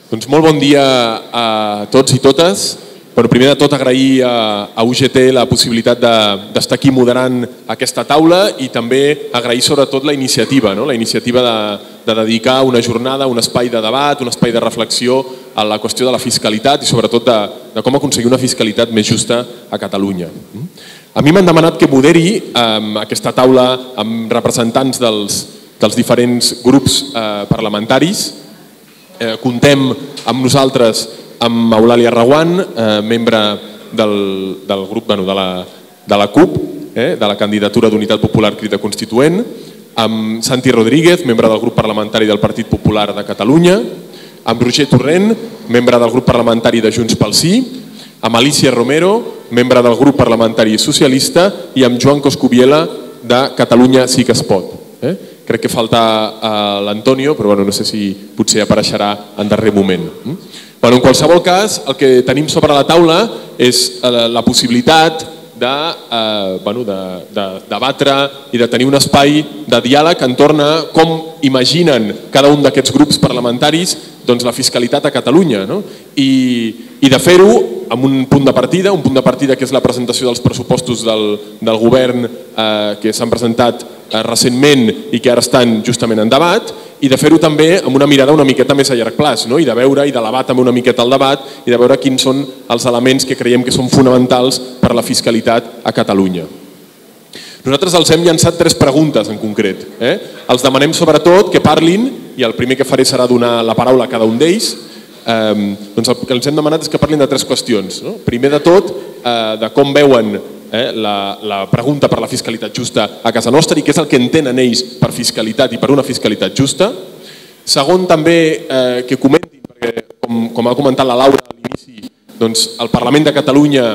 Doncs molt bon dia a tots i totes. Primer de tot agrair a UGT la possibilitat d'estar aquí moderant aquesta taula i també agrair sobretot la iniciativa de dedicar una jornada, un espai de debat, un espai de reflexió a la qüestió de la fiscalitat i sobretot de com aconseguir una fiscalitat més justa a Catalunya. A mi m'han demanat que moderi aquesta taula amb representants dels diferents grups parlamentaris. Contem amb nosaltres amb Eulàlia Reguant, membre del grup de la CUP, de la candidatura d'Unitat Popular Crida Constituent, amb Santi Rodríguez, membre del grup parlamentari del Partit Popular de Catalunya, amb Roger Torrent, membre del grup parlamentari de Junts pel Sí, amb Alicia Romero, membre del grup parlamentari socialista, i amb Joan Coscubiela, de Catalunya Sí que es pot. Crec que falta l'Antonio, però no sé si potser apareixerà en darrer moment. En qualsevol cas, el que tenim sobre la taula és la possibilitat de debatre i de tenir un espai de diàleg entorn a com imaginen cada un d'aquests grups parlamentaris la fiscalitat a Catalunya i de fer-ho amb un punt de partida que és la presentació dels pressupostos del govern que s'han presentat recentment i que ara estan justament en debat, i de fer-ho també amb una mirada una miqueta més a llarg plaç i de veure i d'elevar també una miqueta el debat i de veure quins són els elements que creiem que són fonamentals per a la fiscalitat a Catalunya. Nosaltres els hem llançat 3 preguntes en concret. Els demanem sobretot que parlin, i el primer que faré serà donar la paraula a cada un d'ells. El que els hem demanat és que parlin de 3 qüestions. Primer de tot, de com veuen la pregunta per la fiscalitat justa a casa nostra i què és el que entenen ells per fiscalitat i per una fiscalitat justa. Segon, també que comentin, perquè com ha comentat la Laura a l'inici, el Parlament de Catalunya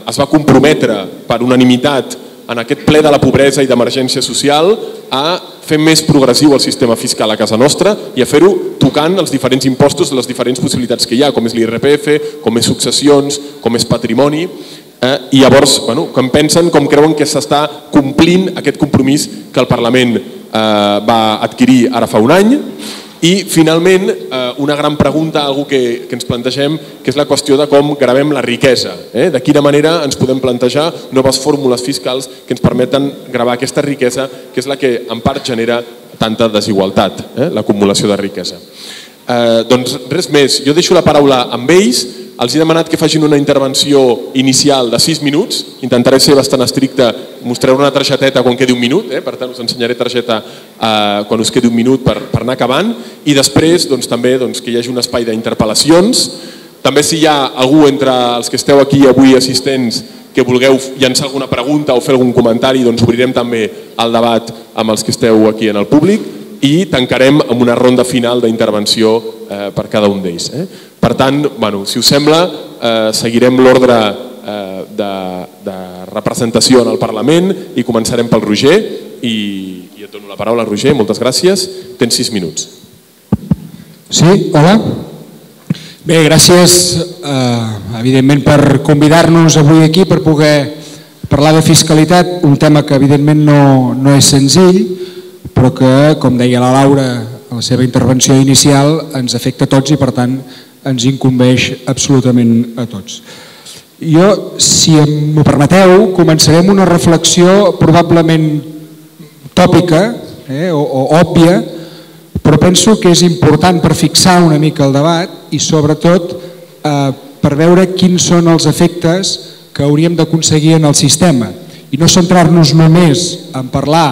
es va comprometre per unanimitat en aquest ple de la pobresa i d'emergència social a fer més progressiu el sistema fiscal a casa nostra i a fer-ho tocant els diferents impostos, les diferents possibilitats que hi ha, com és l'IRPF, com és successions, com és patrimoni. I llavors, com pensen, com creuen que s'està complint aquest compromís que el Parlament va adquirir ara fa un any. I finalment, una gran pregunta, una que ens plantegem, que és la qüestió de com gravem la riquesa. De quina manera ens podem plantejar noves fórmules fiscals que ens permeten gravar aquesta riquesa, que és la que en part genera tanta desigualtat, l'acumulació de riquesa. Doncs res més, jo deixo la paraula amb ells. Els he demanat que facin una intervenció inicial de 6 minuts. Intentaré ser bastant estricte, mostraré una targeteta quan quedi un minut, per tant us ensenyaré targeta quan us quedi un minut per anar acabant, i després també que hi hagi un espai d'interpel·lacions. També si hi ha algú entre els que esteu aquí avui assistents que vulgueu llançar alguna pregunta o fer algun comentari, obrirem també el debat amb els que esteu aquí en el públic i tancarem amb una ronda final d'intervenció per cada un d'ells. Per tant, si us sembla, seguirem l'ordre de representació en el Parlament i començarem pel Roger. I et dono la paraula, Roger, moltes gràcies. Tens 6 minuts. Sí, hola. Bé, gràcies, evidentment, per convidar-nos avui aquí per poder parlar de fiscalitat, un tema que evidentment no és senzill, però que, com deia la Laura a la seva intervenció inicial, ens afecta a tots i, per tant, ens incumbeix absolutament a tots. Jo, si m'ho permeteu, començaré amb una reflexió probablement tòpica o òbvia, però penso que és important per fixar una mica el debat i sobretot per veure quins són els efectes que hauríem d'aconseguir en el sistema i no centrar-nos només en parlar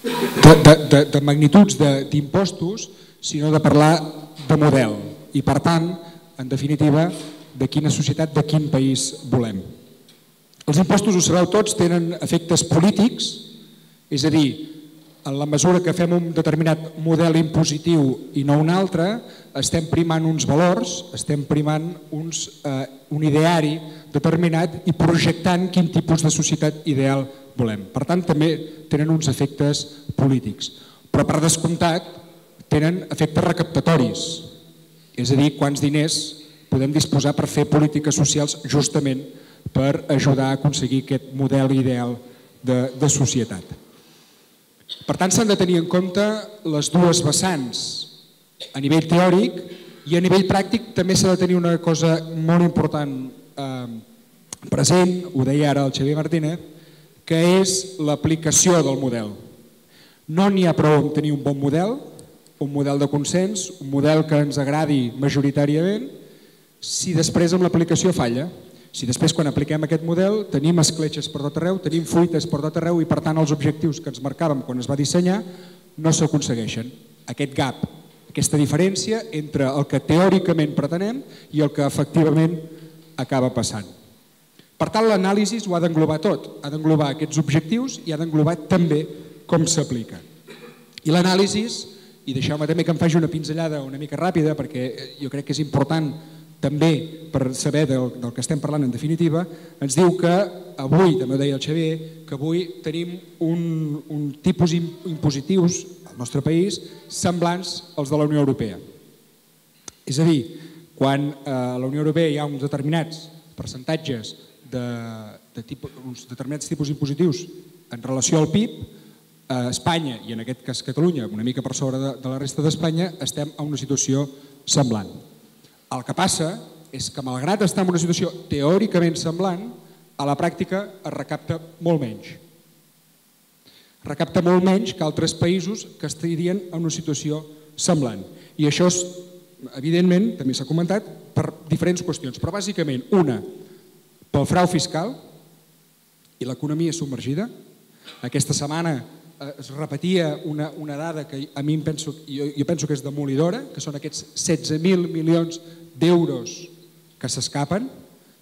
de magnituds d'impostos, sinó de parlar de model i, per tant, en definitiva, de quina societat, de quin país volem. Els impostos, ho sabeu tots, tenen efectes polítics, és a dir, en la mesura que fem un determinat model impositiu i no un altre, estem primant uns valors, estem primant un ideari determinat i projectant quin tipus de societat ideal volem. Per tant, també tenen uns efectes polítics. Però, per descomptat, tenen efectes recaptatoris. És a dir, quants diners podem disposar per fer polítiques socials justament per ajudar a aconseguir aquest model ideal de societat. Per tant, s'han de tenir en compte les dues vessants a nivell teòric, i a nivell pràctic també s'ha de tenir una cosa molt important present, ho deia ara el Xavier Martínez, que és l'aplicació del model. No n'hi ha prou amb tenir un bon model, un model de consens, un model que ens agradi majoritàriament, si després amb l'aplicació falla. Si després quan apliquem aquest model tenim escletxes per tot arreu, tenim fuites per tot arreu i per tant els objectius que ens marcàvem quan es va dissenyar no s'aconsegueixen. Aquest gap, aquesta diferència entre el que teòricament pretenem i el que efectivament acaba passant. Per tant, l'anàlisi ho ha d'englobar tot, ha d'englobar aquests objectius i ha d'englobar també com s'aplica. I l'anàlisi, i deixeu-me també que em faci una pinzellada una mica ràpida perquè jo crec que és important també per saber del que estem parlant en definitiva, ens diu que avui, també ho deia el Xavier, que avui tenim un tipus impositius al nostre país semblants als de la Unió Europea. És a dir, quan a la Unió Europea hi ha uns determinats percentatges uns determinats tipus impositius en relació al PIB, a Espanya, i en aquest cas Catalunya, una mica per sobre de la resta d'Espanya, estem en una situació semblant. El que passa és que, malgrat estar en una situació teòricament semblant, a la pràctica es recapta molt menys. Recapta molt menys que altres països que estarien en una situació semblant. I això, evidentment, també s'ha comentat, per diferents qüestions, però bàsicament una, pel frau fiscal i l'economia submergida. Aquesta setmana es repetia una dada que a mi jo penso que és demolidora, que són aquests 16.000 milions d'euros que s'escapen,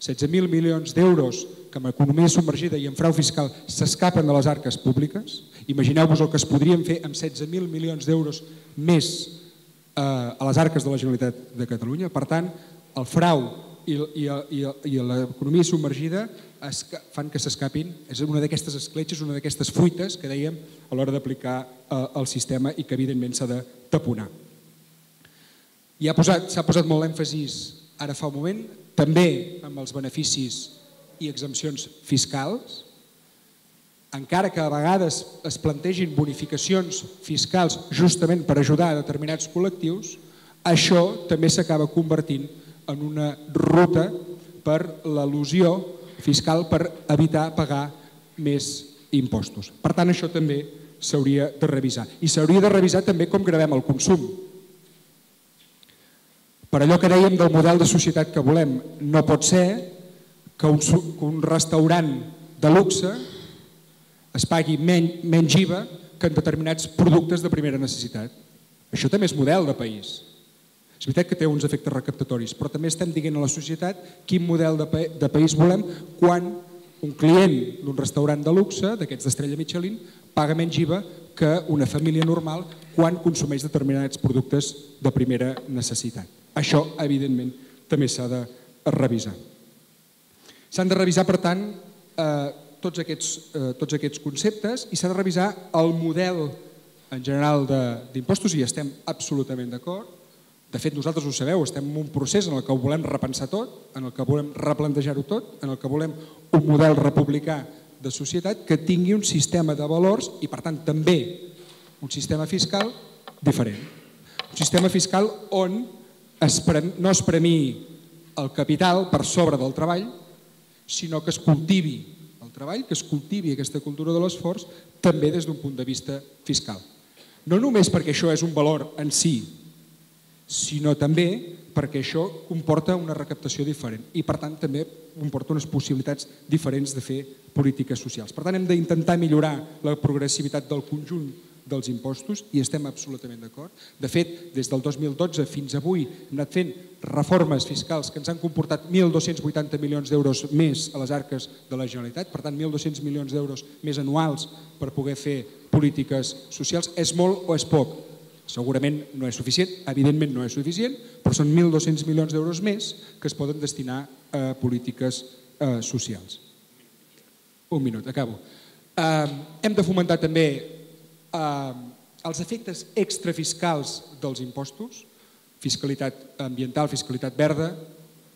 16.000 milions d'euros que amb economia submergida i amb frau fiscal s'escapen de les arques públiques. Imagineu-vos el que es podrien fer amb 16.000 milions d'euros més a les arques de la Generalitat de Catalunya. Per tant, el frau i l'economia submergida fan que s'escapin. És una d'aquestes escletxes, una d'aquestes fuites que dèiem a l'hora d'aplicar el sistema i que evidentment s'ha de taponar. S'ha posat molt èmfasis ara fa un moment, també amb els beneficis i exempcions fiscals, encara que a vegades es plantegin bonificacions fiscals justament per ajudar a determinats col·lectius, això també s'acaba convertint en una ruta per l'elusió fiscal per evitar pagar més impostos. Per tant, això també s'hauria de revisar. I s'hauria de revisar també com gravem el consum. Per allò que dèiem del model de societat que volem, no pot ser que un restaurant de luxe es pagui menys IVA que en determinats productes de primera necessitat. Això també és model de país. És veritat que té uns efectes recaptatoris, però també estem dient a la societat quin model de país volem quan un client d'un restaurant de luxe, d'aquests d'estrella Michelin, paga menys IVA que una família normal quan consumeix determinats productes de primera necessitat. Això, evidentment, també s'ha de revisar. S'han de revisar, per tant, tots aquests conceptes i s'ha de revisar el model en general d'impostos i estem absolutament d'acord. De fet, nosaltres ho sabeu, estem en un procés en el que ho volem repensar tot, en el que volem replantejar-ho tot, en el que volem un model republicà de societat que tingui un sistema de valors i, per tant, també un sistema fiscal diferent. Un sistema fiscal on no es premiï el capital per sobre del treball, sinó que es cultivi el treball, que es cultivi aquesta cultura de l'esforç també des d'un punt de vista fiscal. No només perquè això és un valor en si, sinó també perquè això comporta una recaptació diferent i, per tant, també comporta unes possibilitats diferents de fer polítiques socials. Per tant, hem d'intentar millorar la progressivitat del conjunt dels impostos i estem absolutament d'acord. De fet, des del 2012 fins avui hem anat fent reformes fiscals que ens han comportat 1.280 milions d'euros més a les arques de la Generalitat, per tant 1.200 milions d'euros més anuals per poder fer polítiques socials. És molt o és poc? Segurament no és suficient, evidentment no és suficient, però són 1.200 milions d'euros més que es poden destinar a polítiques socials. Un minut, acabo. Hem de fomentar també els efectes extrafiscals dels impostos, fiscalitat ambiental, fiscalitat verda,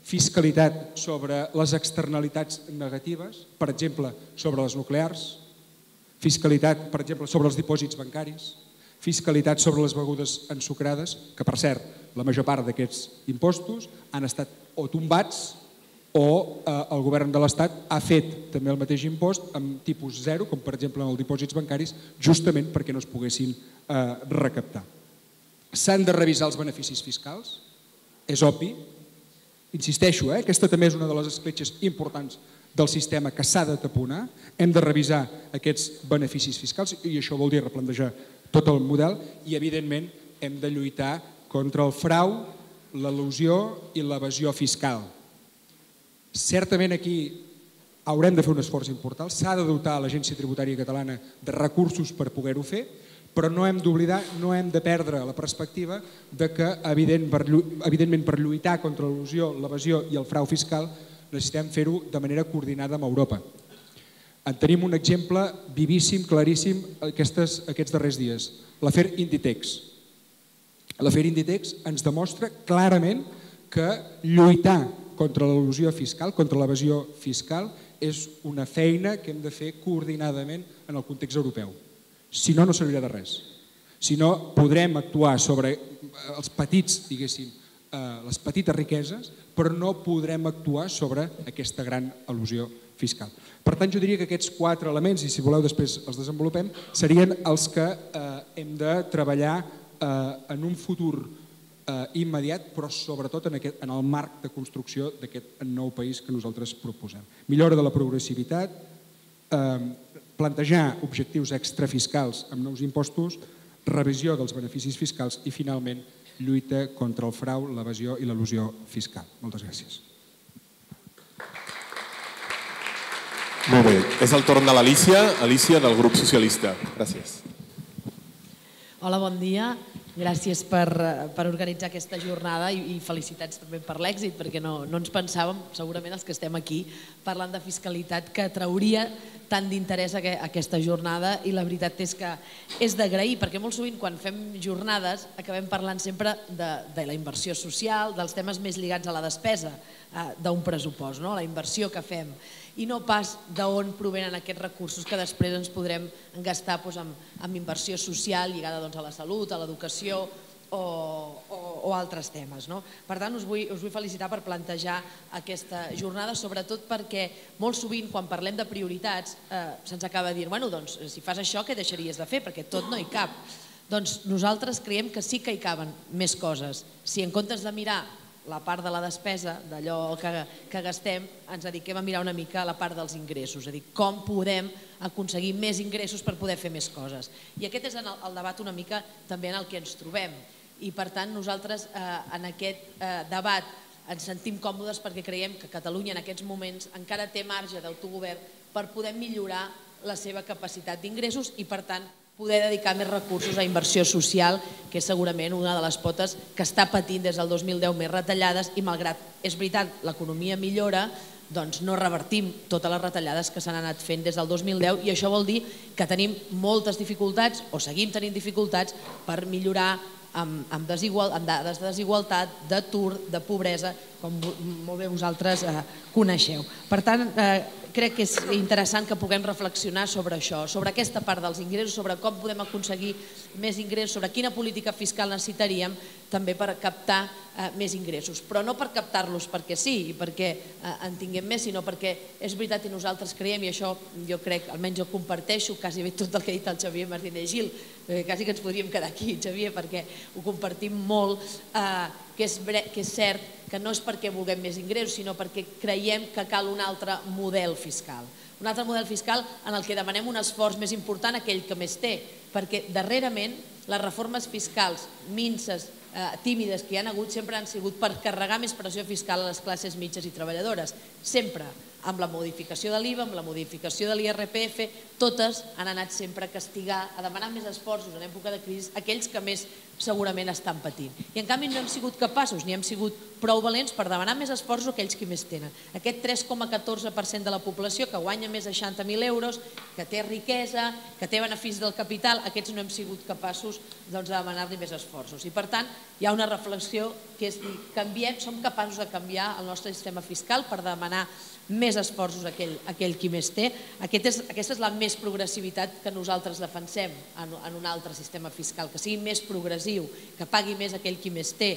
fiscalitat sobre les externalitats negatives, per exemple, sobre les nuclears, fiscalitat, per exemple, sobre els dipòsits bancaris, fiscalitat sobre les begudes ensucrades, que per cert, la major part d'aquests impostos han estat o tombats o el govern de l'Estat ha fet també el mateix impost amb tipus zero, com per exemple en els dipòsits bancaris, justament perquè no es poguessin recaptar. S'han de revisar els beneficis fiscals, és obvi. Insisteixo, aquesta també és una de les escletxes importants del sistema que s'ha de taponar. Hem de revisar aquests beneficis fiscals i això vol dir replantejar tot el model i, evidentment, hem de lluitar contra el frau, l'elusió i l'evasió fiscal. Certament aquí haurem de fer un esforç important, s'ha de dotar l'Agència Tributària Catalana de recursos per poder-ho fer, però no hem d'oblidar, no hem de perdre la perspectiva de que, evidentment, per lluitar contra l'elusió, l'evasió i el frau fiscal necessitem fer-ho de manera coordinada amb Europa. En tenim un exemple vivíssim, claríssim, aquests darrers dies, l'afer Inditex. L'afer Inditex ens demostra clarament que lluitar contra l'elusió fiscal, contra l'evasió fiscal, és una feina que hem de fer coordinadament en el context europeu. Si no, no servirà de res. Si no, podrem actuar sobre els petits, diguéssim, les petites riqueses, però no podrem actuar sobre aquesta gran elusió fiscal. Per tant, jo diria que aquests 4 elements, i si voleu després els desenvolupem, serien els que hem de treballar en un futur immediat, però sobretot en el marc de construcció d'aquest nou país que nosaltres proposem. Millora de la progressivitat, plantejar objectius extrafiscals amb nous impostos, revisió dels beneficis fiscals i, finalment, lluita contra el frau, l'evasió i l'elusió fiscal. Moltes gràcies. Molt bé, és el torn de l'Alícia, Alícia del grup socialista. Gràcies. Hola, bon dia. Gràcies per organitzar aquesta jornada i felicitats també per l'èxit, perquè no ens pensàvem, segurament els que estem aquí, parlant de fiscalitat, que trauria tant d'interès aquesta jornada, i la veritat és que és d'agrair, perquè molt sovint quan fem jornades acabem parlant sempre de la inversió social, dels temes més lligats a la despesa d'un pressupost, la inversió que fem, i no pas d'on provenen aquests recursos que després ens podrem gastar en inversió social lligada a la salut, a l'educació o altres temes. Per tant, us vull felicitar per plantejar aquesta jornada, sobretot perquè molt sovint quan parlem de prioritats se'ns acaba de dir, bueno, doncs si fas això què deixaries de fer, perquè tot no hi cap. Doncs nosaltres creiem que sí que hi caben més coses. Si en comptes de mirar la part de la despesa, d'allò que gastem, ens dediquem a mirar una mica la part dels ingressos, és a dir, com podem aconseguir més ingressos per poder fer més coses. I aquest és el debat una mica també en el que ens trobem. I per tant nosaltres en aquest debat ens sentim còmodes perquè creiem que Catalunya en aquests moments encara té marge d'autogovern per poder millorar la seva capacitat d'ingressos i per tant poder dedicar més recursos a inversió social, que és segurament una de les potes que està patint des del 2010 més retallades i malgrat, és veritat, l'economia millora, doncs no revertim totes les retallades que s'han anat fent des del 2010 i això vol dir que tenim moltes dificultats o seguim tenint dificultats per millorar amb dades de desigualtat, d'atur, de pobresa, com molt bé vosaltres coneixeu. Per tant, crec que és interessant que puguem reflexionar sobre això, sobre aquesta part dels ingressos, sobre com podem aconseguir més ingressos, sobre quina política fiscal necessitaríem també per captar més ingressos. Però no per captar-los perquè sí i perquè en tinguem més, sinó perquè és veritat i nosaltres creiem, i això jo crec, almenys jo comparteixo quasi bé tot el que ha dit el Xavier Martínez Gil, quasi que ens podríem quedar aquí, Xavier, perquè ho compartim molt, que és cert que no és perquè vulguem més ingressos, sinó perquè creiem que cal un altre model fiscal. Un altre model fiscal en el que demanem un esforç més important a aquell que més té, perquè darrerament les reformes fiscals minses, tímides que hi ha hagut sempre han sigut per carregar més pressió fiscal a les classes mitges i treballadores. Sempre, amb la modificació de l'IVA, amb la modificació de l'IRPF, totes han anat sempre a castigar, a demanar més esforços en època de crisi, aquells que més segurament estan patint. I en canvi no hem sigut capaços, ni hem sigut prou valents per demanar més esforços a aquells que més tenen. Aquest 3,14% de la població que guanya més de 60.000 euros, que té riquesa, que té beneficis del capital, aquests no hem sigut capaços de demanar-li més esforços. I per tant, hi ha una reflexió que és dir, som capaços de canviar el nostre sistema fiscal per demanar més esforços aquell qui més té. Aquesta és la més progressivitat que nosaltres defensem en un altre sistema fiscal, que sigui més progressiu, que pagui més aquell qui més té,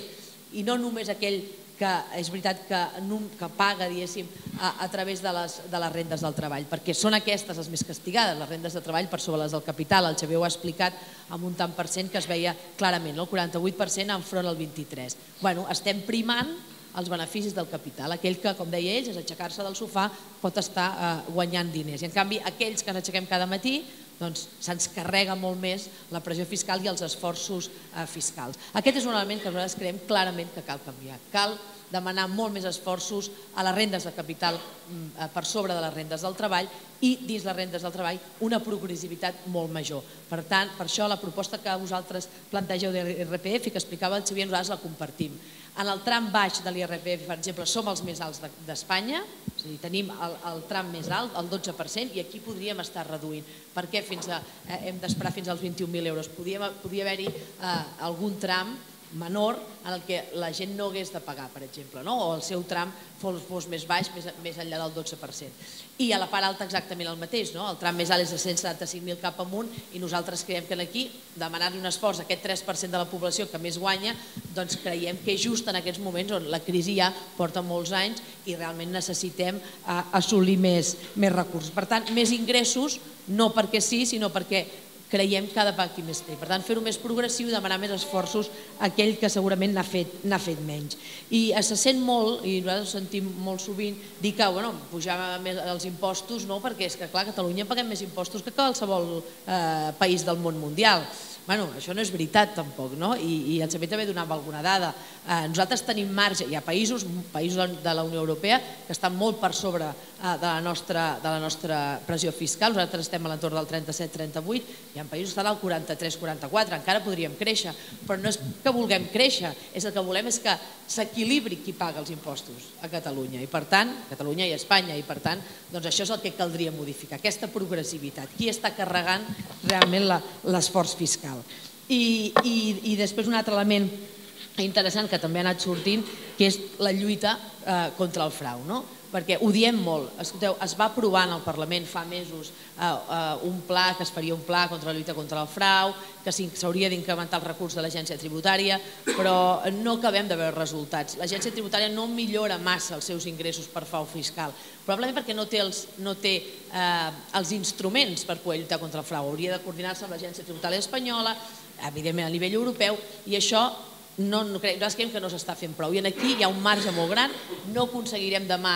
i no només aquell que és veritat que paga, diguéssim, a través de les rendes del treball, perquè són aquestes les més castigades, les rendes de treball per sobre les del capital. El Xavier ho ha explicat amb un tant per cent que es veia clarament, el 48% enfront al 23%. Bueno, estem primant els beneficis del capital. Aquell que, com deia ells, és aixecar-se del sofà, pot estar guanyant diners. I en canvi, aquells que ens aixequem cada matí, doncs se'ns carrega molt més la pressió fiscal i els esforços fiscals. Aquest és un element que nosaltres creiem clarament que cal canviar. Cal demanar molt més esforços a les rendes de capital per sobre de les rendes del treball i dins les rendes del treball una progressivitat molt major. Per tant, per això la proposta que vosaltres plantegeu de l'IRPF, que explicava el Xavier, nosaltres la compartim. En el tram baix de l'IRPF, per exemple, som els més alts d'Espanya, és a dir, tenim el tram més alt, el 12%, i aquí podríem estar reduint. Per què hem d'esperar fins als 21.000 euros? Podria haver-hi algun tram menor en el que la gent no hagués de pagar, per exemple, o el seu tram fos més baix, més enllà del 12%. I a la part alta exactament el mateix, el tram més alt és de 175.000 cap amunt i nosaltres creiem que aquí demanar-li un esforç a aquest 3% de la població que més guanya, doncs creiem que és just en aquests moments on la crisi ja porta molts anys i realment necessitem assolir més recursos. Per tant, més ingressos, no perquè sí, sinó perquè creiem que ha de pagar qui més té. Per tant, fer-ho més progressiu i demanar més esforços a aquell que segurament n'ha fet menys. I se sent molt, i nosaltres ho sentim molt sovint, dir que pujar més els impostos, perquè és que clar, a Catalunya paguem més impostos que qualsevol país del món mundial. Això no és veritat tampoc, i el Xavier també donava alguna dada. Nosaltres tenim marge, hi ha països de la Unió Europea que estan molt per sobre de la nostra pressió fiscal, nosaltres estem a l'entorn del 37-38, hi ha països que estan al 43-44, encara podríem créixer, però no és que vulguem créixer, el que volem és que s'equilibri qui paga els impostos a Catalunya, i per tant, Catalunya i Espanya, i per tant, això és el que caldria modificar, aquesta progressivitat, qui està carregant realment l'esforç fiscal. I després un altre element interessant que també ha anat sortint, que és la lluita contra el frau, perquè ho diem molt. Escolteu, es va aprovar en el Parlament fa mesos un pla, que es faria un pla contra la lluita contra el frau, que s'hauria d'incrementar el recurs de l'agència tributària, però no acabem de veure resultats. L'agència tributària no millora massa els seus ingressos per frau fiscal, probablement perquè no té els instruments per poder lluitar contra el frau. Hauria de coordinar-se amb l'agència tributària espanyola, evidentment a nivell europeu, i això nosaltres creiem que no s'està fent prou. I aquí hi ha un marge molt gran, no aconseguirem demà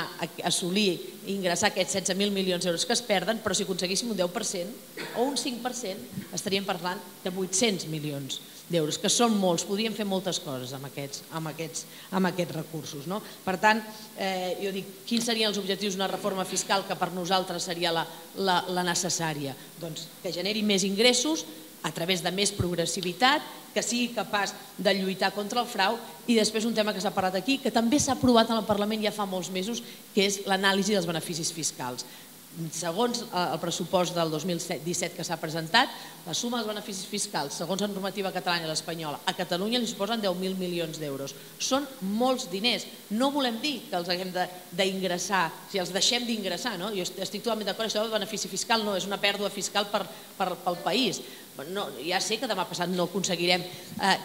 assolir i ingressar aquests 16.000 milions d'euros que es perden, però si aconseguíssim un 10% o un 5% estaríem parlant de 800 milions d'euros, que són molts, podríem fer moltes coses amb aquests recursos. Per tant, jo dic, quins serien els objectius d'una reforma fiscal que per nosaltres seria la necessària? Doncs que generi més ingressos a través de més progressivitat, que sigui capaç de lluitar contra el frau, i després un tema que s'ha parlat aquí, que també s'ha aprovat en el Parlament ja fa molts mesos, que és l'anàlisi dels beneficis fiscals. Segons el pressupost del 2017 que s'ha presentat, la suma dels beneficis fiscals, segons la normativa catalana i l'espanyola, a Catalunya li suposen 10.000 milions d'euros. Són molts diners. No volem dir que els haguem d'ingressar, si els deixem d'ingressar, jo estic totalment d'acord, això del benefici fiscal no és una pèrdua fiscal pel país. Ja sé que demà passat no aconseguirem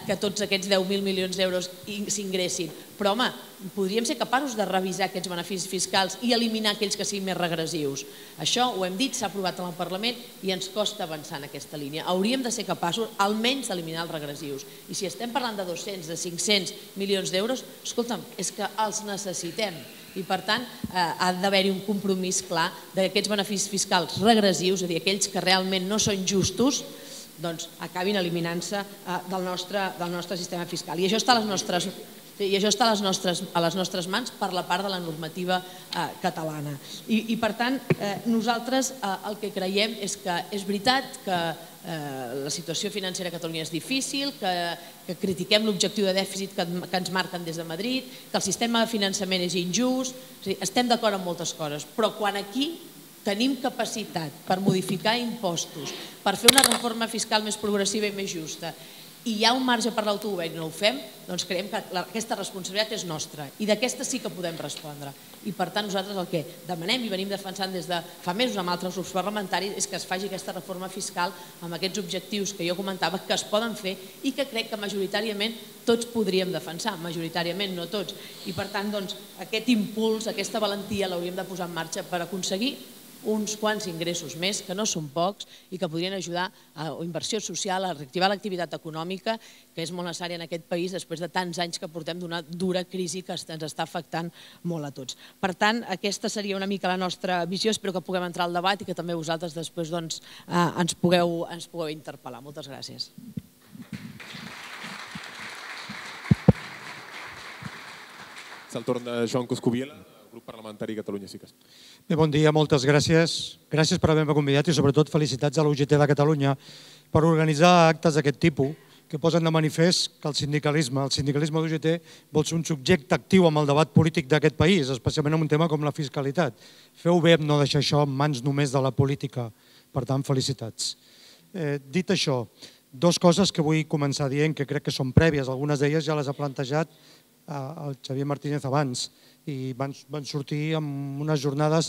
que tots aquests 10.000 milions d'euros s'ingressin, però home, podríem ser capaços de revisar aquests beneficis fiscals i eliminar aquells que siguin més regressius. Això ho hem dit, s'ha aprovat en el Parlament i ens costa avançar en aquesta línia. Hauríem de ser capaços almenys d'eliminar els regressius. I si estem parlant de 200, de 500 milions d'euros, escolta'm, és que els necessitem. I per tant ha d'haver-hi un compromís clar d'aquests beneficis fiscals regressius, és a dir, aquells que realment no són justos, doncs acabin eliminant-se del nostre sistema fiscal. I això està a les nostres mans per la part de la normativa catalana. I per tant, nosaltres el que creiem és que és veritat que la situació financera a Catalunya és difícil, que critiquem l'objectiu de dèficit que ens marquen des de Madrid, que el sistema de finançament és injust, estem d'acord en moltes coses, però quan aquí tenim capacitat per modificar impostos, per fer una reforma fiscal més progressiva i més justa, i hi ha un marge per l'autogovern i no ho fem, doncs creiem que aquesta responsabilitat és nostra i d'aquesta sí que podem respondre. I per tant nosaltres el que demanem i venim defensant des de fa mesos amb altres grups parlamentaris és que es faci aquesta reforma fiscal amb aquests objectius que jo comentava que es poden fer i que crec que majoritàriament tots podríem defensar, majoritàriament no tots. I per tant aquest impuls, aquesta valentia l'hauríem de posar en marxa per aconseguir uns quants ingressos més, que no són pocs i que podrien ajudar a inversió social, a reactivar l'activitat econòmica, que és molt necessària en aquest país després de tants anys que portem d'una dura crisi que ens està afectant molt a tots. Per tant, aquesta seria una mica la nostra visió, espero que puguem entrar al debat i que també vosaltres després ens pugueu interpel·lar. Moltes gràcies. És el torn de Joan Coscubiela, grup parlamentari Catalunya Sí que es Pot. Bé, bon dia, moltes gràcies. Gràcies per haver-me convidat i sobretot felicitats a la UGT de Catalunya per organitzar actes d'aquest tipus que posen de manifest que el sindicalisme de UGT vol ser un subjecte actiu amb el debat polític d'aquest país, especialment en un tema com la fiscalitat. Feu bé en no deixar això en mans només de la política. Per tant, felicitats. Dit això, dues coses que vull començar dient que crec que són prèvies. Algunes d'elles ja les ha plantejat el Xavier Martínez abans i van sortir amb unes jornades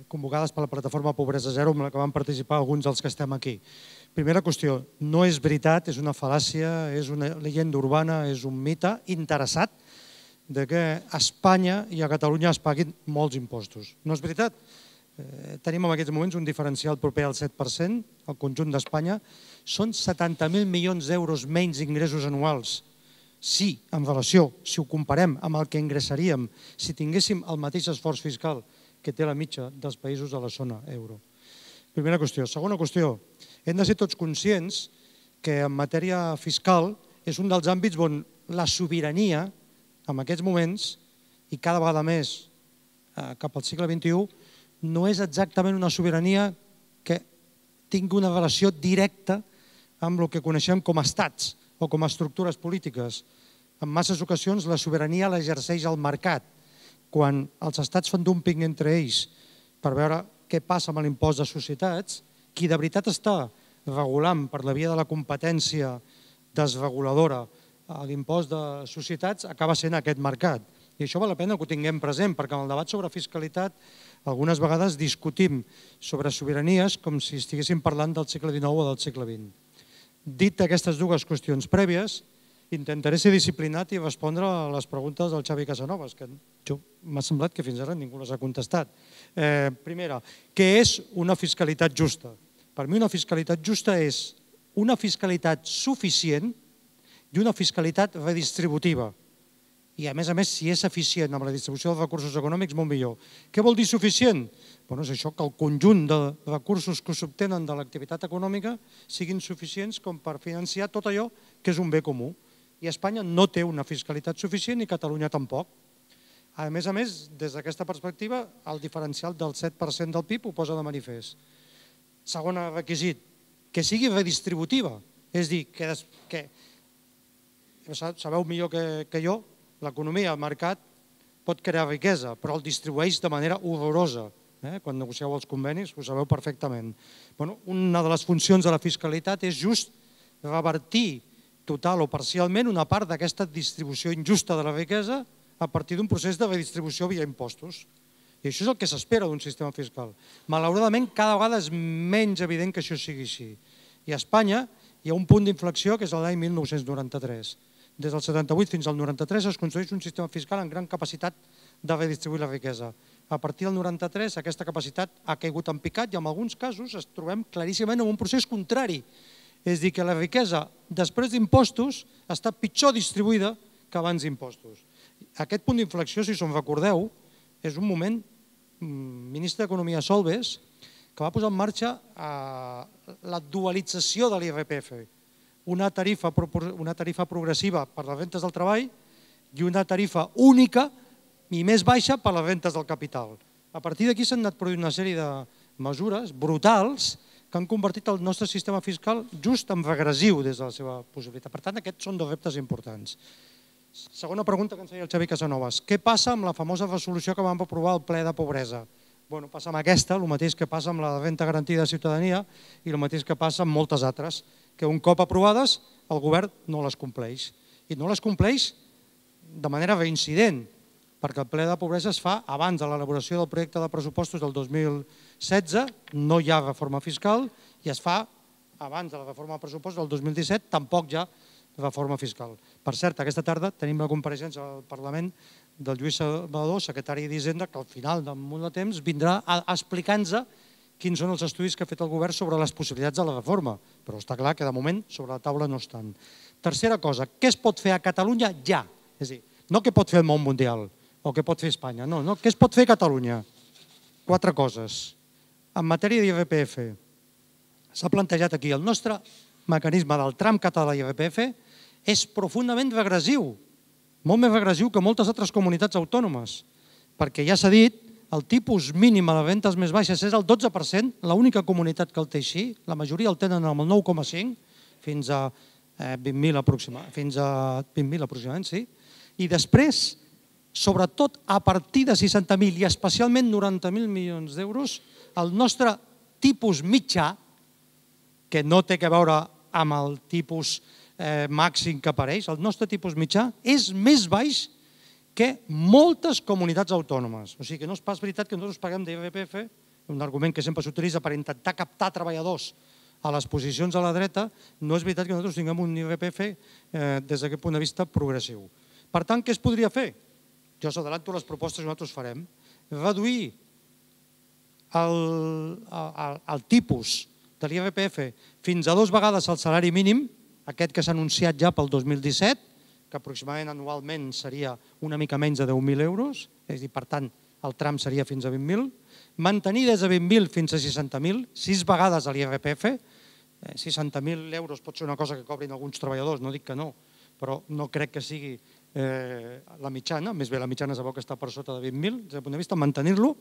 convocades per la plataforma Pobresa Zero amb la que van participar alguns dels que estem aquí. Primera qüestió, no és veritat, és una fal·làcia, és una llegenda urbana, és un mite interessat que a Espanya i a Catalunya es paguin molts impostos. No és veritat. Tenim en aquests moments un diferencial proper al 7%, al conjunt d'Espanya. Són 70.000 milions d'euros menys ingressos anuals. Sí, en relació, si ho comparem amb el que ingressaríem si tinguéssim el mateix esforç fiscal que té la mitja dels països de la zona euro. Primera qüestió. Segona qüestió, hem de ser tots conscients que en matèria fiscal és un dels àmbits on la sobirania, en aquests moments, i cada vegada més cap al segle XXI, no és exactament una sobirania que tingui una relació directa amb el que coneixem com a estats o com a estructures polítiques. En masses ocasions la sobirania l'exerceix el mercat. Quan els estats fan dumping entre ells per veure què passa amb l'impost de societats, qui de veritat està regulant per la via de la competència desreguladora l'impost de societats acaba sent aquest mercat. I això val la pena que ho tinguem present, perquè en el debat sobre fiscalitat algunes vegades discutim sobre sobiranies com si estiguéssim parlant del segle XIX o del segle XX. Dit aquestes dues qüestions prèvies, intentaré ser disciplinat i respondre a les preguntes del Xavi Casanovas, que m'ha semblat que fins ara ningú les ha contestat. Primera, què és una fiscalitat justa? Per mi una fiscalitat justa és una fiscalitat suficient i una fiscalitat redistributiva. I a més, si és eficient amb la distribució dels recursos econòmics, molt millor. Què vol dir suficient? És això, que el conjunt de recursos que s'obtenen de l'activitat econòmica siguin suficients com per financiar tot allò que és un bé comú. I Espanya no té una fiscalitat suficient i Catalunya tampoc. A més, des d'aquesta perspectiva, el diferencial del 7% del PIB ho posa de manifest. Segon requisit, que sigui redistributiva. És dir, que sabeu millor que jo, l'economia, el mercat, pot crear riquesa, però el distribueix de manera horrorosa. Quan negocieu els convenis ho sabeu perfectament. Una de les funcions de la fiscalitat és just revertir total o parcialment una part d'aquesta distribució injusta de la riquesa a partir d'un procés de redistribució via impostos. I això és el que s'espera d'un sistema fiscal. Malauradament, cada vegada és menys evident que això sigui així. I a Espanya hi ha un punt d'inflexió que és l'any 1993. Des del 78 fins al 93 es construeix un sistema fiscal amb gran capacitat de redistribuir la riquesa. A partir del 93 aquesta capacitat ha caigut en picat i en alguns casos es trobem claríssimament en un procés contrari. És a dir, que la riquesa després d'impostos està pitjor distribuïda que abans d'impostos. Aquest punt d'inflexió, si us en recordeu, és un moment, ministre d'Economia Solbes, que va posar en marxa la dualització de l'IRPF. Una tarifa progressiva per les rentes del treball i una tarifa única i més baixa per les rentes del capital. A partir d'aquí s'han anat produint una sèrie de mesures brutals que han convertit el nostre sistema fiscal just en regressiu des de la seva possibilitat. Per tant, aquests són dos reptes importants. Segona pregunta que ens feia el Xavi Casanovas. Què passa amb la famosa resolució que vam aprovar al ple de pobresa? Passa amb aquesta, el mateix que passa amb la renda garantida de ciutadania i el mateix que passa amb moltes altres. que un cop aprovades el govern no les compleix. I no les compleix de manera reincident, perquè el ple de pobresa es fa abans de l'elaboració del projecte de pressupostos del 2016, no hi ha reforma fiscal, i es fa abans de la reforma de pressupostos del 2017, tampoc hi ha reforma fiscal. Per cert, aquesta tarda tenim la compareixença al Parlament del Lluís Salvador, secretari d'Hisenda, que al final d'un munt de temps vindrà a explicar-nos quins són els estudis que ha fet el govern sobre les possibilitats de la reforma, però està clar que de moment sobre la taula no estan. Tercera cosa, què es pot fer a Catalunya ja? És a dir, no què pot fer el món mundial o què pot fer Espanya, no, què es pot fer a Catalunya? 4 coses. En matèria d'IRPF, s'ha plantejat aquí, el nostre mecanisme del tram català d'IRPF és profundament regressiu, molt més regressiu que moltes altres comunitats autònomes, perquè ja s'ha dit, el tipus mínim a les rentes més baixes és el 12%, l'única comunitat que el té així, la majoria el tenen amb el 9,5%, fins a 20.000 aproximadament, sí. I després, sobretot a partir de 60.000 i especialment 90.000 milions d'euros, el nostre tipus mitjà, que no té a veure amb el tipus màxim que apareix, el nostre tipus mitjà és més baix que moltes comunitats autònomes. O sigui que no és pas veritat que nosaltres paguem d'IRPF, un argument que sempre s'utilitza per intentar captar treballadors a les posicions a la dreta, no és veritat que nosaltres tinguem un IRPF des d'aquest punt de vista progressiu. Per tant, què es podria fer? Jo us adelanto les propostes que nosaltres farem. Reduir el tipus de l'IRPF fins a 2 vegades el salari mínim, aquest que s'ha anunciat ja pel 2017, que aproximadament anualment seria una mica menys de 10.000 euros, és a dir, per tant, el tram seria fins a 20.000, mantenir des de 20.000 fins a 60.000, 6 vegades l'IRPF, 60.000 euros pot ser una cosa que cobrin alguns treballadors, no dic que no, però no crec que sigui la mitjana, més bé la mitjana sabeu que està per sota de 20.000, des del punt de vista mantenir-lo,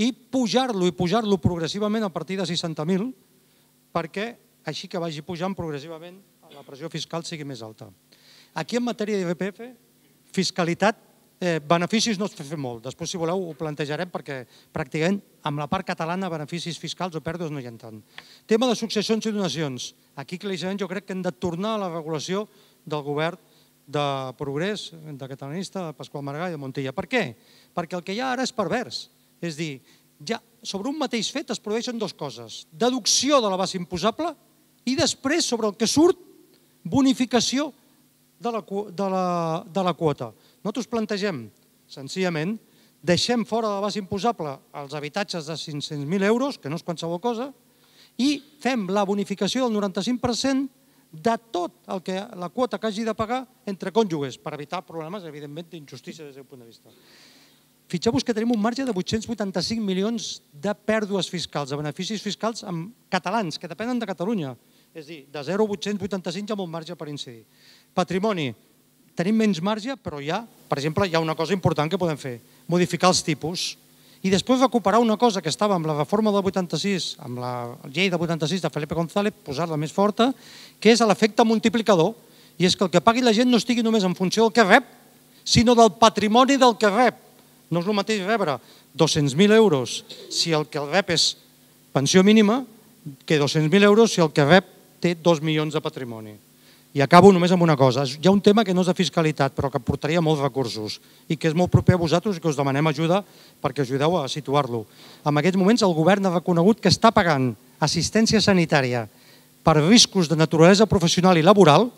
i pujar-lo progressivament a partir de 60.000, perquè així que vagi pujant progressivament la pressió fiscal sigui més alta. Aquí en matèria d'IRPF, fiscalitat, beneficis no es fa molt. Després, si voleu, ho plantejarem perquè pràcticament amb la part catalana beneficis fiscals o pèrdues no hi ha tant. Tema de successions i donacions. Aquí claríssimament jo crec que hem de tornar a la regulació del govern de Progrés, de Catalanista, de Pasqual Maragall i de Montilla. Per què? Perquè el que hi ha ara és pervers. És dir, ja sobre un mateix fet es produeixen 2 coses. Deducció de la base imposable i després, sobre el que surt, bonificació de la quota. Nosaltres plantegem, senzillament, deixem fora de la base imposable els habitatges de 500.000 euros, que no és qualsevol cosa, i fem la bonificació del 95% de tot la quota que hagi de pagar entre cònjuges, per evitar problemes, evidentment, d'injustícia des del punt de vista. Fixeu-vos que tenim un marge de 885 milions de pèrdues fiscals, de beneficis fiscals catalans, que depenen de Catalunya. És a dir, de 0 a 885 hi ha molt marge per incidir. Patrimoni, tenim menys marge, però per exemple, hi ha una cosa important que podem fer, modificar els tipus i després recuperar una cosa que estava amb la reforma del 86, amb la llei del 86 de Felipe González, posar-la més forta, que és l'efecte multiplicador, i és que el que pagui la gent no estigui només en funció del que rep, sinó del patrimoni del que rep. No és el mateix rebre 200.000 euros si el que el rep és pensió mínima que 200.000 euros si el que rep té 2 milions de patrimoni. I acabo només amb una cosa. Hi ha un tema que no és de fiscalitat, però que portaria molts recursos i que és molt proper a vosaltres i que us demanem ajuda perquè ajudeu a situar-lo. En aquests moments el govern ha reconegut que està pagant assistència sanitària per riscos de naturalesa professional i laboral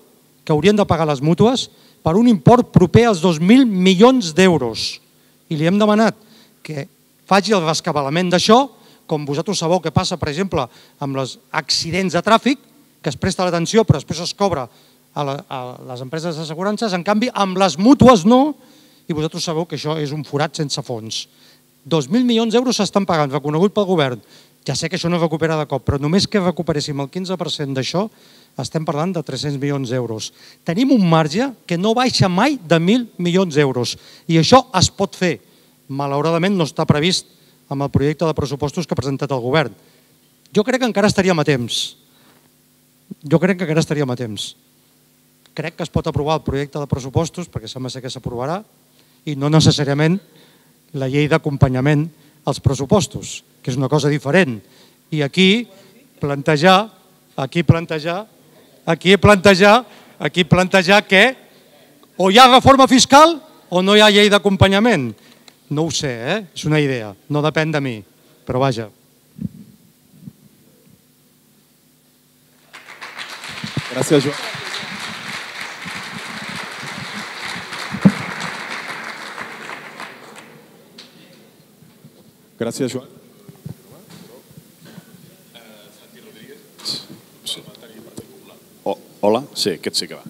que haurien de pagar les mútues per un import proper als 2.000 milions d'euros. I li hem demanat que faci el rescabalament d'això, com vosaltres sabeu que passa, per exemple, amb els accidents de tràfic, que es presta l'atenció però després es cobra a les empreses d'assegurances, en canvi amb les mútues no, i vosaltres sabeu que això és un forat sense fons. 2.000 milions d'euros s'estan pagant, reconegut pel govern. Ja sé que això no es recupera de cop, però només que recuperéssim el 15% d'això, estem parlant de 300 milions d'euros. Tenim un marge que no baixa mai de 1.000 milions d'euros i això es pot fer. Malauradament no està previst amb el projecte de pressupostos que ha presentat el govern. Jo crec que encara estaríem a temps. Crec que es pot aprovar el projecte de pressupostos, perquè sembla ser que s'aprovarà, i no necessàriament la llei d'acompanyament als pressupostos, que és una cosa diferent. I aquí plantejar aquí plantejar que o hi ha reforma fiscal o no hi ha llei d'acompanyament. No ho sé, és una idea, no depèn de mi, però vaja. Gràcies, Joan. Gràcies, Joan. Hola? Sí, aquest sí que va.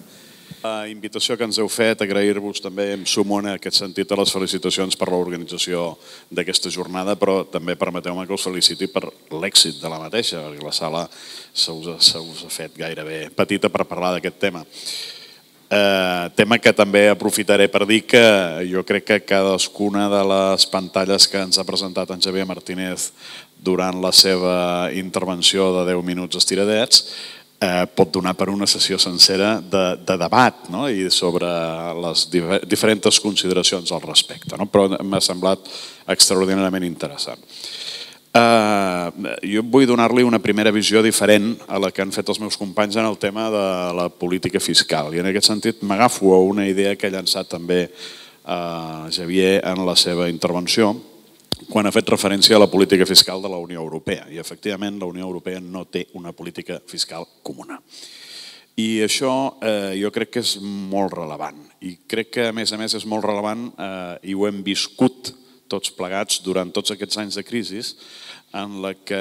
La invitació que ens heu fet, agrair-vos també, em sumo en aquest sentit a les felicitacions per l'organització d'aquesta jornada, però també permeteu-me que us feliciti per l'èxit de la mateixa, perquè la sala se us ha fet gairebé petita per parlar d'aquest tema. Tema que també aprofitaré per dir que jo crec que cadascuna de les pantalles que ens ha presentat en Xavier Martínez durant la seva intervenció de 10 minuts estiradets pot donar per una sessió sencera de debat i sobre les diferents consideracions al respecte, però m'ha semblat extraordinàriament interessant. Jo vull donar-li una primera visió diferent a la que han fet els meus companys en el tema de la política fiscal, i en aquest sentit m'agafo a una idea que ha llançat també Xavier en la seva intervenció quan ha fet referència a la política fiscal de la Unió Europea, i efectivament la Unió Europea no té una política fiscal comuna. I això jo crec que és molt rellevant, i crec que a més és molt rellevant i ho hem viscut tots plegats durant tots aquests anys de crisi en la que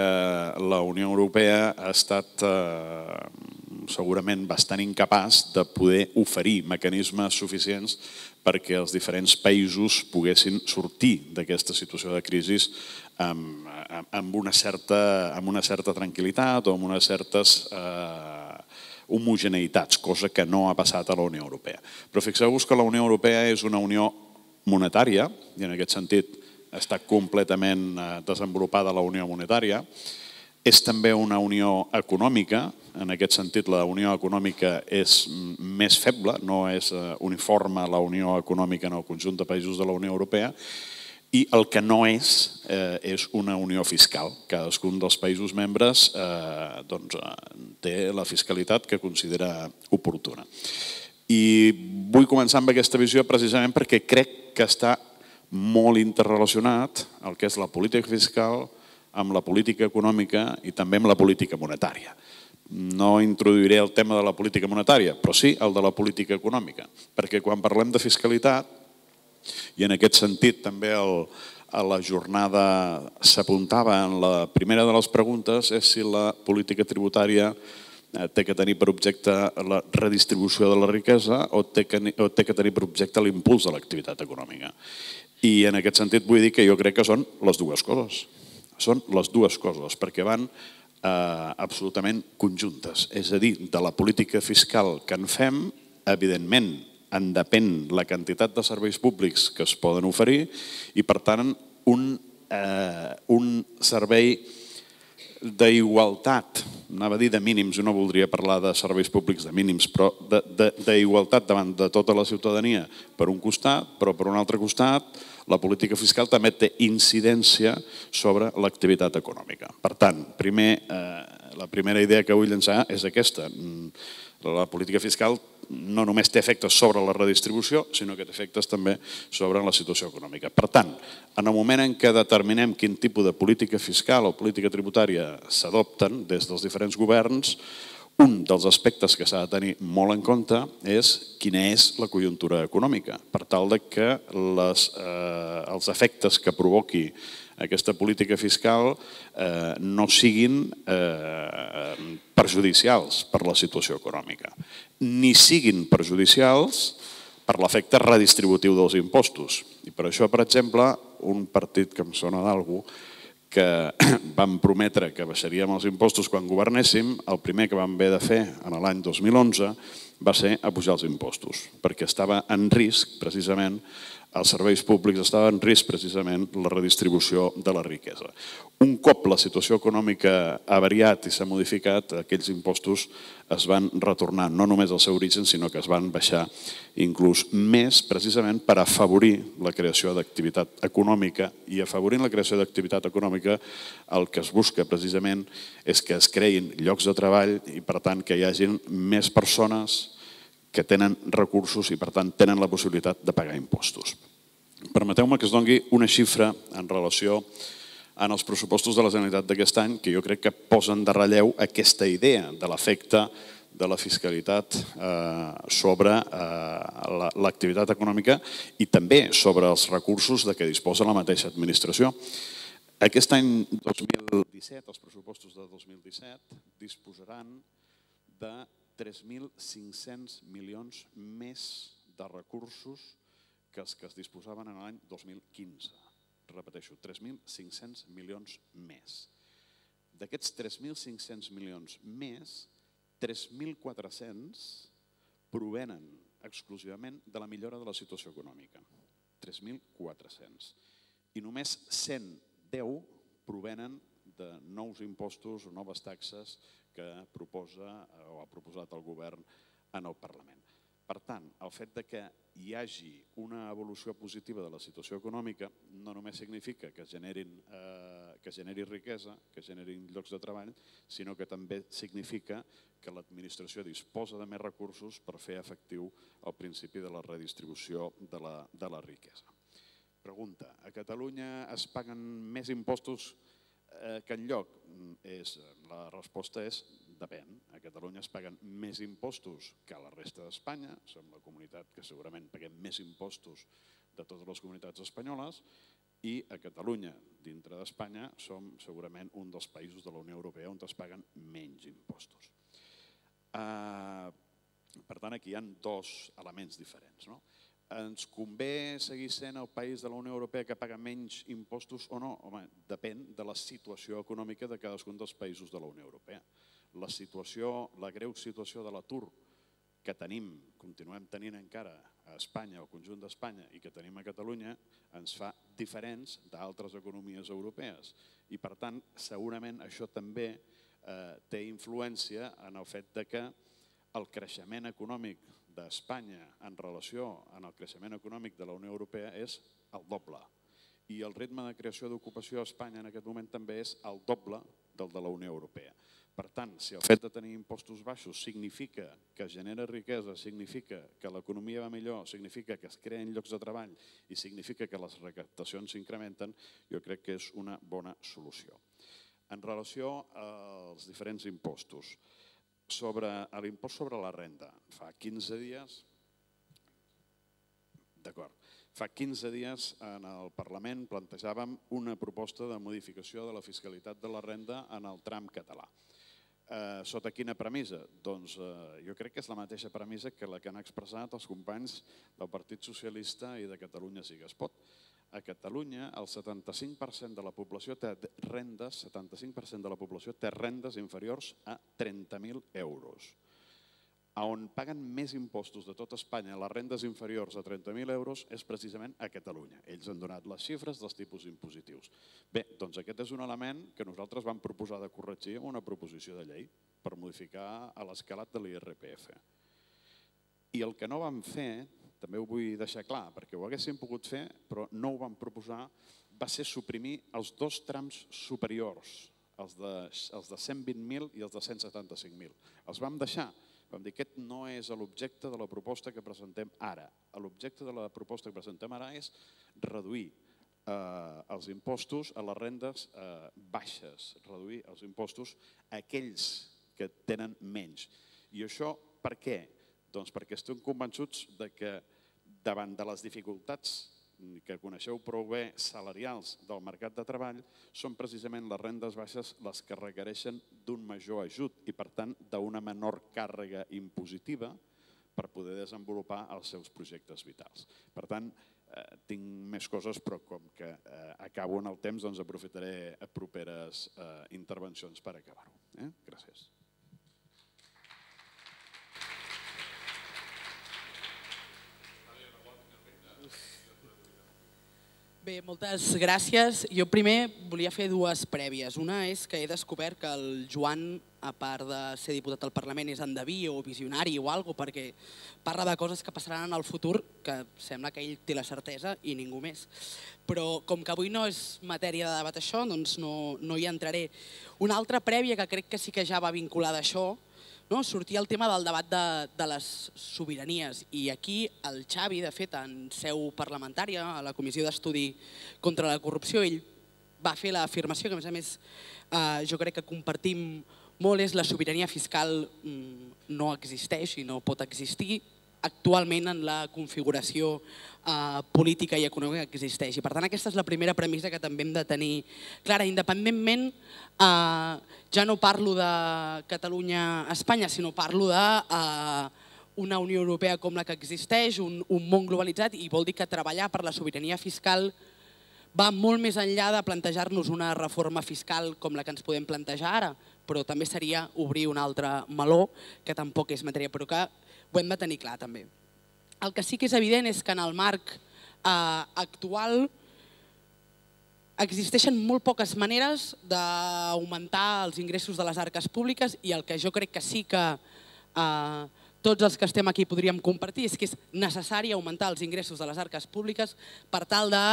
la Unió Europea ha estat segurament bastant incapaç de poder oferir mecanismes suficients perquè els diferents països poguessin sortir d'aquesta situació de crisi amb una certa tranquil·litat o amb unes certes homogeneïtats, cosa que no ha passat a la Unió Europea. Però fixeu-vos que la Unió Europea és una unió monetària, i en aquest sentit està completament desenvolupada la unió monetària. És també una unió econòmica, en aquest sentit la unió econòmica és més feble, no és uniforme la unió econòmica en el conjunt de països de la Unió Europea, i el que no és una unió fiscal. Cadascun dels països membres té la fiscalitat que considera oportuna. I vull començar amb aquesta visió precisament perquè crec que està molt interrelacionat el que és la política fiscal amb la política econòmica i també amb la política monetària. No introduiré el tema de la política monetària, però sí el de la política econòmica, perquè quan parlem de fiscalitat, i en aquest sentit també a la jornada s'apuntava en la primera de les preguntes, és si la política tributària té que tenir per objecte la redistribució de la riquesa o té que tenir per objecte l'impuls de l'activitat econòmica. I en aquest sentit vull dir que jo crec que són les dues coses. Són les dues coses, perquè van absolutament conjuntes. És a dir, de la política fiscal que en fem, evidentment, en depèn la quantitat de serveis públics que es poden oferir i, per tant, un servei d'igualtat, anava a dir de mínims, jo no voldria parlar de serveis públics de mínims, però d'igualtat davant de tota la ciutadania per un costat, però per un altre costat la política fiscal també té incidència sobre l'activitat econòmica. Per tant, la primera idea que vull llançar és aquesta. La política fiscal no només té efectes sobre la redistribució, sinó que té efectes també sobre la situació econòmica. Per tant, en el moment en què determinem quin tipus de política fiscal o política tributària s'adopten des dels diferents governs, un dels aspectes que s'ha de tenir molt en compte és quina és la conjuntura econòmica, per tal que els efectes que provoqui aquesta política fiscal no siguin perjudicials per la situació econòmica, ni siguin perjudicials per l'efecte redistributiu dels impostos. I per això, per exemple, un partit que em sona d'algú que vam prometre que baixaríem els impostos quan governéssim, el primer que vam haver de fer en l'any 2011 va ser apujar els impostos, perquè estava en risc, precisament, els serveis públics, estava en risc precisament la redistribució de la riquesa. Un cop la situació econòmica ha variat i s'ha modificat, aquells impostos es van retornar no només al seu origen, sinó que es van baixar inclús més precisament per afavorir la creació d'activitat econòmica, i afavorint la creació d'activitat econòmica el que es busca precisament és que es creïn llocs de treball i per tant que hi hagin més persones que tenen recursos i per tant tenen la possibilitat de pagar impostos. Permeteu-me que es doni una xifra en relació en els pressupostos de la Generalitat d'aquest any que jo crec que posen de relleu aquesta idea de l'efecte de la fiscalitat sobre l'activitat econòmica i també sobre els recursos de què disposa la mateixa administració. Aquest any 2017, els pressupostos de 2017, disposaran de 3.500 milions més de recursos que els que es disposaven en l'any 2015. Repeteixo, 3.500 milions més. D'aquests 3.500 milions més, 3.400 provenen exclusivament de la millora de la situació econòmica. 3.400. I només 110 provenen de nous impostos o noves taxes que proposa o ha proposat el govern en el Parlament. Per tant, el fet que hi hagi una evolució positiva de la situació econòmica no només significa que es generi riquesa, que es generin llocs de treball, sinó que també significa que l'administració disposa de més recursos per fer efectiu el principi de la redistribució de la riquesa. Pregunta, a Catalunya es paguen més impostos que enlloc? La resposta és depèn. A Catalunya es paguen més impostos que a la resta d'Espanya. Som la comunitat que segurament paguem més impostos de totes les comunitats espanyoles i a Catalunya, dintre d'Espanya, som segurament un dels països de la Unió Europea on es paguen menys impostos. Per tant, aquí hi ha dos elements diferents. Ens convé seguir sent el país de la Unió Europea que paga menys impostos o no? Home, depèn de la situació econòmica de cadascun dels països de la Unió Europea. La greu situació de l'atur que continuem tenint encara a Espanya, al conjunt d'Espanya, i que tenim a Catalunya, ens fa diferents d'altres economies europees. I per tant, segurament això també té influència en el fet que el creixement econòmic d'Espanya en relació amb el creixement econòmic de la Unió Europea és el doble. I el ritme de creació d'ocupació a Espanya en aquest moment també és el doble del de la Unió Europea. Per tant, si el fet de tenir impostos baixos significa que es genera riquesa, significa que l'economia va millor, significa que es creen llocs de treball i significa que les recaptacions s'incrementen, jo crec que és una bona solució. En relació als diferents impostos, sobre l'impost sobre la renda, fa 15 dies, en el Parlament plantejàvem una proposta de modificació de la fiscalitat de la renda en el tram català. Sota quina premissa? Doncs jo crec que és la mateixa premissa que la que han expressat els companys del Partit Socialista i de Catalunya Sí que es pot. A Catalunya el 75% de la població té rendes inferiors a 30.000 euros. On paguen més impostos de tot Espanya les rendes inferiors a 30.000 euros és precisament a Catalunya. Ells han donat les xifres dels tipus impositius. Bé, doncs aquest és un element que nosaltres vam proposar de corregir amb una proposició de llei per modificar l'escalat de l'IRPF. I el que no vam fer, també ho vull deixar clar, perquè ho haguéssim pogut fer, però no ho vam proposar, va ser suprimir els dos trams superiors, els de 120.000 i els de 175.000. Els vam deixar. Vam dir que aquest no és l'objecte de la proposta que presentem ara. L'objecte de la proposta que presentem ara és reduir els impostos a les rendes baixes, reduir els impostos a aquells que tenen menys. I això per què? Doncs perquè estem convençuts que davant de les dificultats que coneixeu prou bé salarials del mercat de treball, són precisament les rendes baixes les que requereixen d'un major ajut i per tant d'una menor càrrega impositiva per poder desenvolupar els seus projectes vitals. Per tant, tinc més coses, però com que acabo en el temps, doncs aprofitaré properes intervencions per acabar-ho. Gràcies. Bé, moltes gràcies. Jo primer volia fer dues prèvies. Una és que he descobert que el Joan, a part de ser diputat al Parlament, és endeví o visionari o alguna cosa, perquè parla de coses que passaran en el futur, que sembla que ell té la certesa i ningú més. Però com que avui no és matèria de debat això, doncs no hi entraré. Una altra prèvia que crec que sí que ja va vinculada a això, sortia el tema del debat de les sobiranies, i aquí el Xavi, de fet, en seu parlamentària, a la Comissió d'Estudi contra la Corrupció, ell va fer l'afirmació que, a més, jo crec que compartim molt, és la sobirania fiscal no existeix i no pot existir actualment en la configuració política i econòmica que existeix. I per tant aquesta és la primera premissa que també hem de tenir clara. Independentment, ja no parlo de Catalunya-Espanya, sinó parlo d'una Unió Europea com la que existeix, un món globalitzat, i vol dir que treballar per la sobirania fiscal va molt més enllà de plantejar-nos una reforma fiscal com la que ens podem plantejar ara, però també seria obrir un altre meló, que tampoc és matèria, però que ho hem de tenir clar també. El que sí que és evident és que en el marc actual existeixen molt poques maneres d'augmentar els ingressos de les arques públiques, i el que jo crec que sí que tots els que estem aquí podríem compartir és que és necessari augmentar els ingressos de les arques públiques per tal de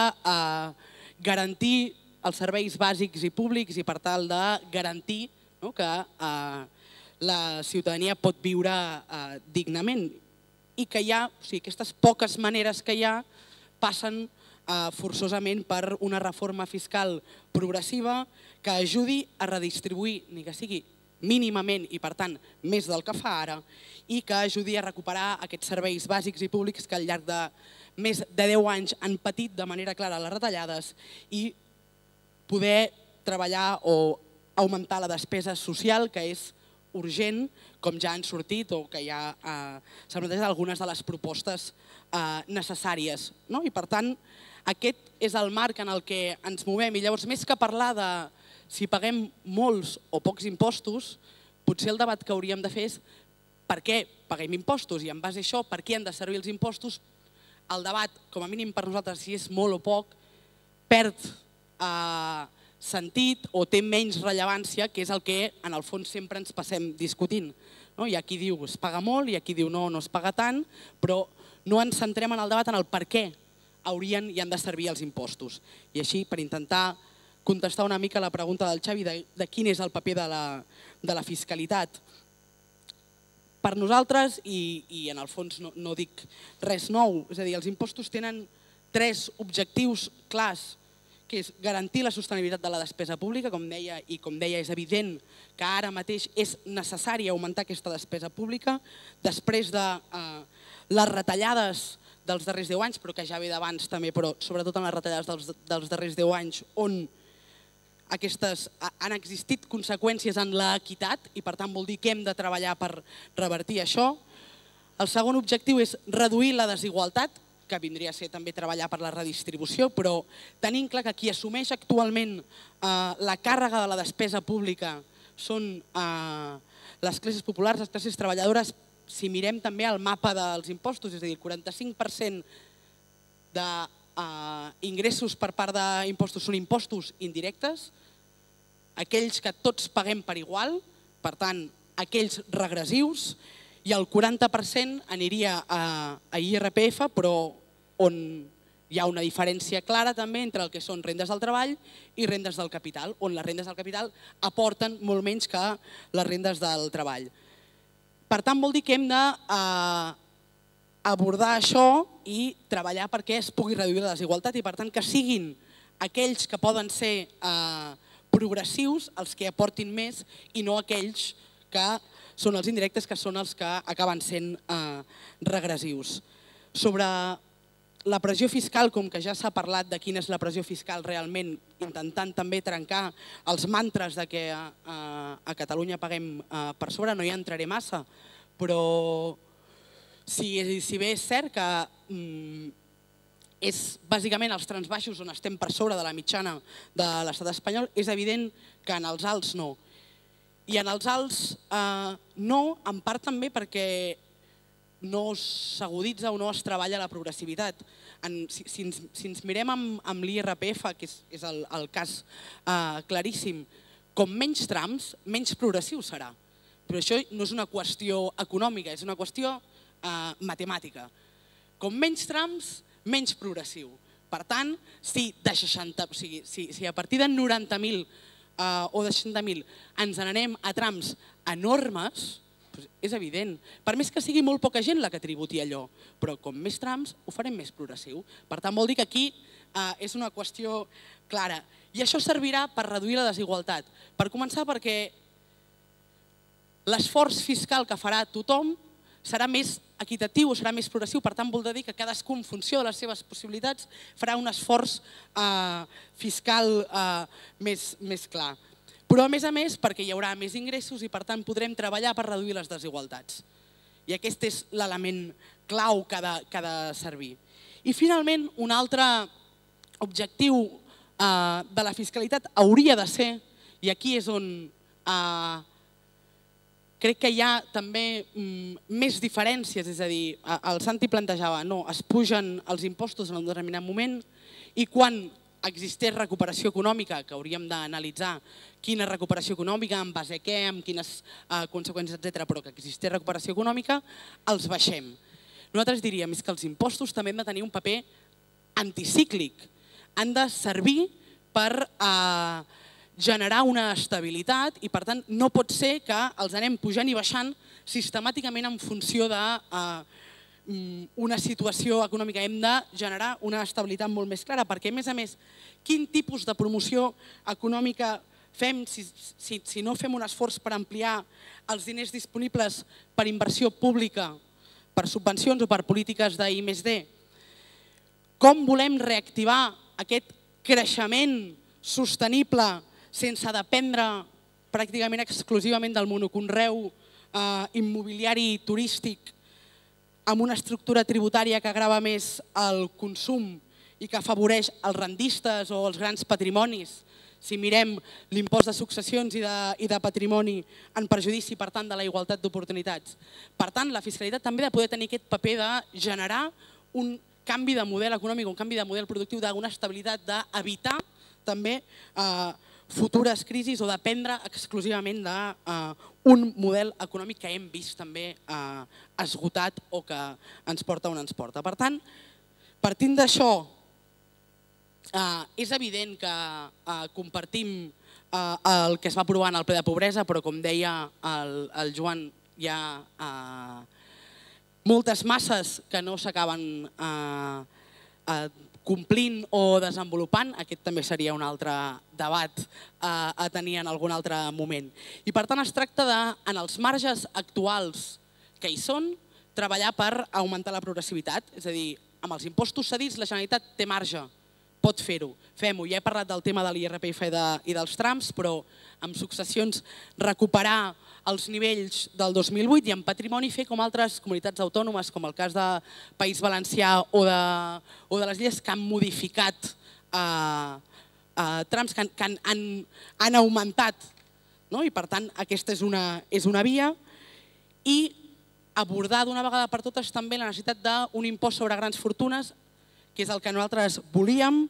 garantir els serveis bàsics i públics i per tal de garantir que la ciutadania pot viure dignament, i que aquestes poques maneres que hi ha passen forçosament per una reforma fiscal progressiva que ajudi a redistribuir, ni que sigui mínimament i per tant més del que fa ara, i que ajudi a recuperar aquests serveis bàsics i públics que al llarg de més de 10 anys han patit de manera clara les retallades, i poder treballar o augmentar la despesa social, que és urgent, com ja han sortit o que ja s'han plantejat algunes de les propostes necessàries. I per tant, aquest és el marc en el que ens movem, i llavors més que parlar de si paguem molts o pocs impostos, potser el debat que hauríem de fer és per què paguem impostos, i en base a això, per què han de servir els impostos. El debat, com a mínim per nosaltres, si és molt o poc, perd sentit o té menys rellevància, que és el que en el fons sempre ens passem discutint. Hi ha qui diu es paga molt, hi ha qui diu no es paga tant, però no ens centrem en el debat en el per què haurien i han de servir els impostos. I així, per intentar contestar una mica la pregunta del Xavi de quin és el paper de la fiscalitat. Per nosaltres, i en el fons no dic res nou, és a dir, els impostos tenen 3 objectius clars, que és garantir la sostenibilitat de la despesa pública, com deia, i com deia és evident que ara mateix és necessari augmentar aquesta despesa pública, després de les retallades dels darrers 10 anys, però que ja ve d'abans també, però sobretot en les retallades dels darrers 10 anys, on han existit conseqüències en l'equitat, i per tant vol dir que hem de treballar per revertir això. El segon objectiu és reduir la desigualtat, que vindria a ser també treballar per la redistribució, però tenint clar que qui assumeix actualment la càrrega de la despesa pública són les classes populars, les classes treballadores. Si mirem també el mapa dels impostos, és a dir, el 45% d'ingressos per part d'impostos són impostos indirectes, aquells que tots paguem per igual, per tant, aquells regressius, i el 40% aniria a IRPF, però on hi ha una diferència clara també entre el que són rendes del treball i rendes del capital, on les rendes del capital aporten molt menys que les rendes del treball. Per tant, vol dir que hem d'abordar això i treballar perquè es pugui reduir la desigualtat, i per tant que siguin aquells que poden ser progressius els que aportin més, i no aquells que són els indirectes, que són els que acaben sent regressius. Sobre la pressió fiscal, com que ja s'ha parlat de quina és la pressió fiscal realment, intentant també trencar els mantres de que a Catalunya paguem per sobre, no hi entraré massa, però si bé és cert que és bàsicament als trams baixos on estem per sobre de la mitjana de l'estat espanyol, és evident que en els alts no. I en els alts no, en part també perquè no s'aguditza o no es treballa la progressivitat. Si ens mirem amb l'IRPF, que és el cas claríssim, com menys trams, menys progressiu serà. Però això no és una qüestió econòmica, és una qüestió matemàtica. Com menys trams, menys progressiu. Per tant, si a partir de 90.000 o de 60.000 ens n'anem a trams enormes, és evident. Per més que sigui molt poca gent la que tributi allò, però com més trams ho farem més progressiu. Per tant, vol dir que aquí és una qüestió clara. I això servirà per reduir la desigualtat. Per començar, perquè l'esforç fiscal que farà tothom serà més equitatiu o serà més progressiu, per tant vol dir que cadascú en funció de les seves possibilitats farà un esforç fiscal més clar. Però a més perquè hi haurà més ingressos i per tant podrem treballar per reduir les desigualtats. I aquest és l'element clau que ha de servir. I finalment un altre objectiu de la fiscalitat hauria de ser, i aquí és on crec que hi ha també més diferències, és a dir, el Santi plantejava, no, es pugen els impostos en un determinat moment i quan existeix recuperació econòmica, que hauríem d'analitzar quina recuperació econòmica, en base a què, amb quines conseqüències, etc., però que existeix recuperació econòmica, els baixem. Nosaltres diríem que els impostos també han de tenir un paper anticíclic, han de servir per generar una estabilitat i per tant no pot ser que els anem pujant i baixant sistemàticament en funció d'una situació econòmica. Hem de generar una estabilitat molt més clara perquè a més, quin tipus de promoció econòmica fem si no fem un esforç per ampliar els diners disponibles per inversió pública, per subvencions o per polítiques d'I+D? Com volem reactivar aquest creixement sostenible sense dependre pràcticament exclusivament del monoconreu immobiliari turístic amb una estructura tributària que agrava més el consum i que afavoreix els rendistes o els grans patrimonis? Si mirem l'impost de successions i de patrimoni en perjudici, per tant, de la igualtat d'oportunitats. Per tant, la fiscalitat també ha de poder tenir aquest paper de generar un canvi de model econòmic, un canvi de model productiu, d'una estabilitat, d'evitar també futures crisis o dependre exclusivament d'un model econòmic que hem vist també esgotat o que ens porta on ens porta. Per tant, partint d'això, és evident que compartim el que es va aprovar en el ple de pobresa, però com deia el Joan, hi ha moltes masses que no s'acaben complint o desenvolupant. Aquest també seria un altre debat a tenir en algun altre moment. I per tant es tracta de, en els marges actuals que hi són, treballar per augmentar la progressivitat. És a dir, amb els impostos cedits la Generalitat té marge, pot fer-ho, fem-ho. Ja he parlat del tema de l'IRPF i dels trams, però amb successions recuperar els nivells del 2008 i en patrimoni fer com altres comunitats autònomes, com el cas de País Valencià o de les Illes, que han modificat trams, que han augmentat. I per tant, aquesta és una via. I abordar d'una vegada per totes també la necessitat d'un impost sobre grans fortunes, que és el que nosaltres volíem,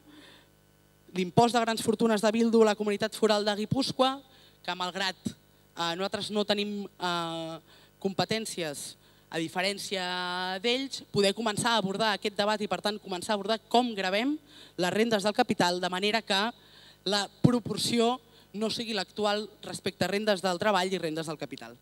l'impost de grans fortunes de Bildu a la comunitat foral de Guipúscoa, que malgrat nosaltres no tenim competències a diferència d'ells, poder començar a abordar aquest debat i per tant començar a abordar com gravem les rendes del capital de manera que la proporció no sigui l'actual respecte a rendes del treball i rendes del capital.